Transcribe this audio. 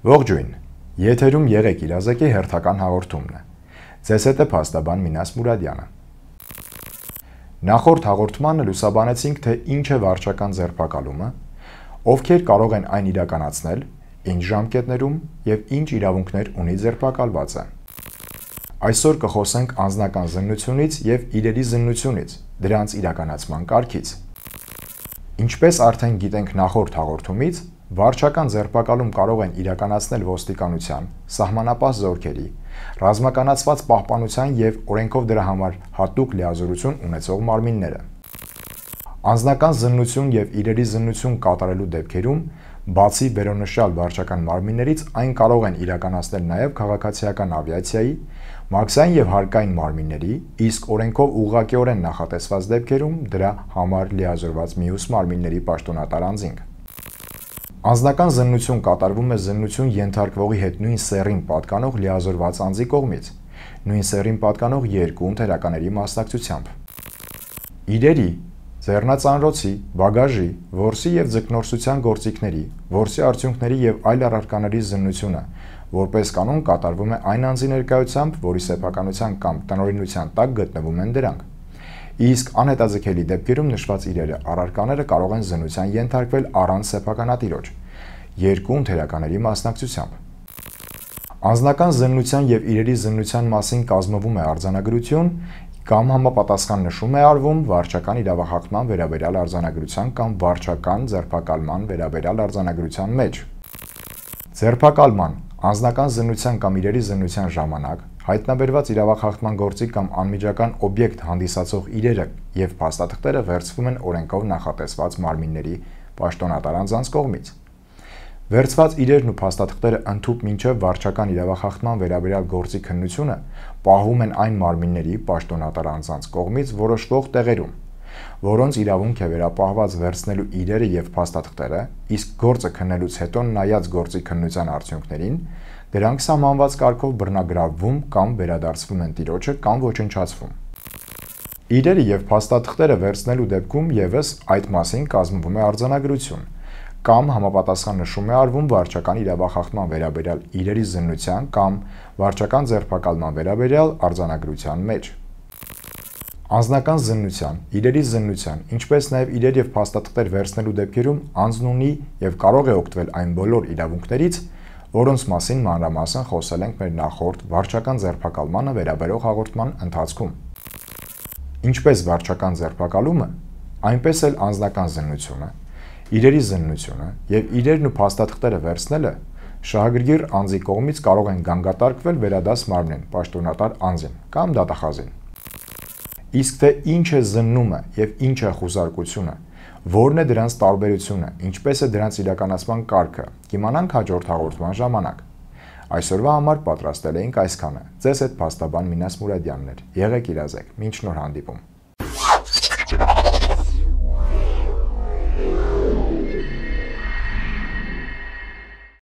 Ողջույն, եթերում Եղեք իրազեկի հերթական հաղորդումն է։ Ձեզ հետ է փաստաբան Մինաս Մուրադյանը։ Նախորդ հաղորդմանը լուսաբանեցինք, թե ինչ է վարչական ձերբակալումը, ովքեր կարող են այն իրականացնել, ինչ ժամկետներում եւ ինչ իրավունքներ ունի ձերբակալվածը։ Այսօր կխոսենք անձնական զննությունից եւ իրերի զննությունից, դրանց իրականացման կարգից։ Ինչպես արդեն գիտենք նախորդ հաղորդումից, վարչական ձերբակալում կարող են իրականացնել ոստիկանության, սահմանապահ զորքերի, ռազմականացված պահպանության եւ օրենքով դրա համար հատուկ լիազորություն ունեցող մարմինները։ Անձնական զննություն եւ իրերի զննություն կատարելու դեպքերում, բացի վերոնշյալ վարչական մարմիններից, այն կարող են իրականացնել նաեւ քաղաքացիական ավիացիայի, մաքսային եւ հարկային մարմինների, իսկ օրենքով ուղղակիորեն նախատեսված դեպքերում դրա համար լիազորված մյուս մարմինների պաշտոնատար անձինք։ Անձնական զննություն կատարվում է զննություն ենթարկվողի հետ նույն սեռին պատկանող լիազորված անձի կողմից, նույն սեռին պատկանող երկու ընթերականների մասնակցությամբ։ Իրերի, ձեռնածանրոցի, բագաժի, որսի եւ ձկնորսության գործիքների, որսի արդյունքների եւ այլ առարկաների զննությունը, որպես կանոն կատարվում է այն անձի ներկայությամբ, որի սեփականության կամ տնօրինության տակ գտնվում են դրանք։ Իսկ անհետաձգելի դեպքերում նշված իրերը առարկաները կարող են զննության ենթարկվել առանց սեփականատիրոջ, երկու ընթերականների մասնակցությամբ։ Անձնական զննության եւ իրերի զննության մասին կազմվում է արձանագրություն կամ համապատասխան նշում է արվում վարչական իրավախախտման վերաբերյալ արձանագրության կամ վարչական ձերբակալման վերաբերյալ արձանագրության մեջ։ Ձերբակալման, անձնական զննության կամ իրերի զննության ժամանակ հայտնաբերված իրավախախտման գործի կամ անմիջական օբյեկտ հանդիսացող իրերը եւ փաստաթղթերը վերցվում են օրենքով նախատեսված մարմինների պաշտոնատար անձանց կողմից։ Վերցված իրերն ու փաստաթղթերը ընդհուպ մինչև վարչական իրավախախտման վերաբերյալ գործի քննությունը պահվում են այն մարմինների պաշտոնատար անձանց կողմից որոշվող տեղերում, որոնց իրավունք է վերապահված վերցնելու իրերը եւ փաստաթղթերը, իսկ գործը քննելուց հետո նայած գործի քննության արդյունքներին, դրանք սահմանված կարգով բռնագրավվում կամ վերադարձվում են տիրոջը կամ ոչնչացվում։ Իրերը եւ փաստաթղթերը վերցնելու դեպքում եւս այդ մասին կազմվում է արձանագրություն կամ համապատասխան նշում է արվում վարչական իրավախախտման վերաբերյալ իրերի զննության կամ վարչական ձերբակալման վերաբերյալ արձանագրության մեջ։ Անձնական զննության, իրերի զննության, ինչպես նաեւ իրեր եւ փաստաթղթեր վերցնելու դեպքերում անձն ունի եւ կարող է օգտվել այն բոլոր իրավունքներից, որոնց մասին մանրամասն խոսել ենք մեր նախորդ վարչական ձերբակալմանը վերաբերող հաղորդման ընթացքում։ Ինչպես վարչական ձերբակալումը, այնպես էլ անձնական զննությունը, իրերի զննությունը եւ իրերն ու փաստաթղթերը վերցնելը շահագրգիռ անձի կողմից կարող են գանգատարկվել վերադաս մարմնին, պաշտոնատար անձին կամ դատախազին։ Իսկ թե ինչ է զննումը եւ ինչ է խուզարկությունը, որն է դրանց տարբերությունը, ինչպես է դրանց իրականացման կարգը, կիմանանք հաջորդ հաղորդման ժամանակ։ Այսօրվա համար պատրաստել էինք այսքանը։ Ձեզ հետ փաստաբան Մինաս Մուրադյանն էր։ Եղեք իրազեկ, մինչ նոր հանդիպում։